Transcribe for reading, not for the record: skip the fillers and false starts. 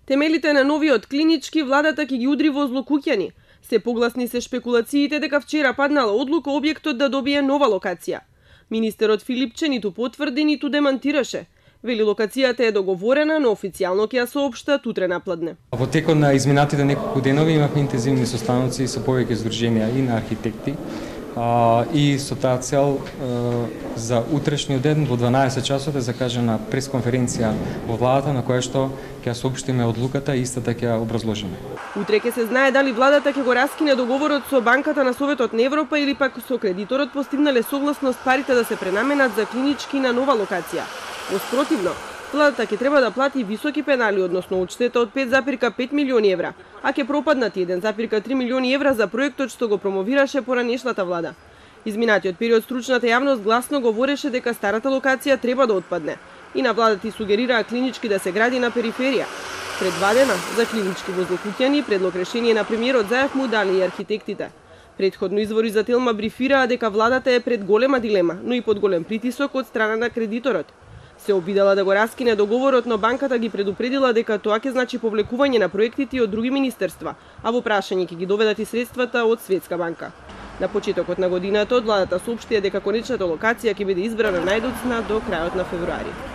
Темелите на новиот клинички владата ќе ги удри во злокуќани. Се погласни се шпекулациите дека вчера паднала одлука објектот да добие нова локација. Министерот Филипче ниту потврди, ниту демантираше. Вели локацијата е договорена, но официјално ќе ја соопштат утре напладне. Во текот на изминатите неколку денови имавме интензивни состаноци со повеќе здруженија и на архитекти, и со таа цел за утрешниот ден во 12 часот е закажана пресконференција во владата на која што ќе соопштиме одлуката и истата ќе ја образложиме. Утре ќе се знае дали владата ќе го раскине договорот со Банката на Советот на Европа или пак со кредиторот постигнале согласност парите да се пренаменат за клинички на нова локација. Воспротивно, владата ќе треба да плати високи пенали, односно одштета од 5,5 милиони евра, а ќе пропаднат 1,3 милиони евра за проектот што го промовираше поранешната влада. Изминатиот период стручната јавност гласно говореше дека старата локација треба да отпадне и на владата сугерираа клинички да се гради на периферија. Пред 2 дена за клинички во Злокуќани предлог решение на премиерот Заев му дали и архитектите. Предходно извори за Телма брифираа дека владата е пред голема дилема, но и под голем притисок од страна на кредиторот. Се обидела да го раскине договорот, но банката ги предупредила дека тоа ќе значи повлекување на проектите од други министерства, а во прашање ќе ги доведат и средствата од Светска банка. На почетокот на годината од владата соопштија дека конечната локација ќе биде избрана најдоцна до крајот на февруари.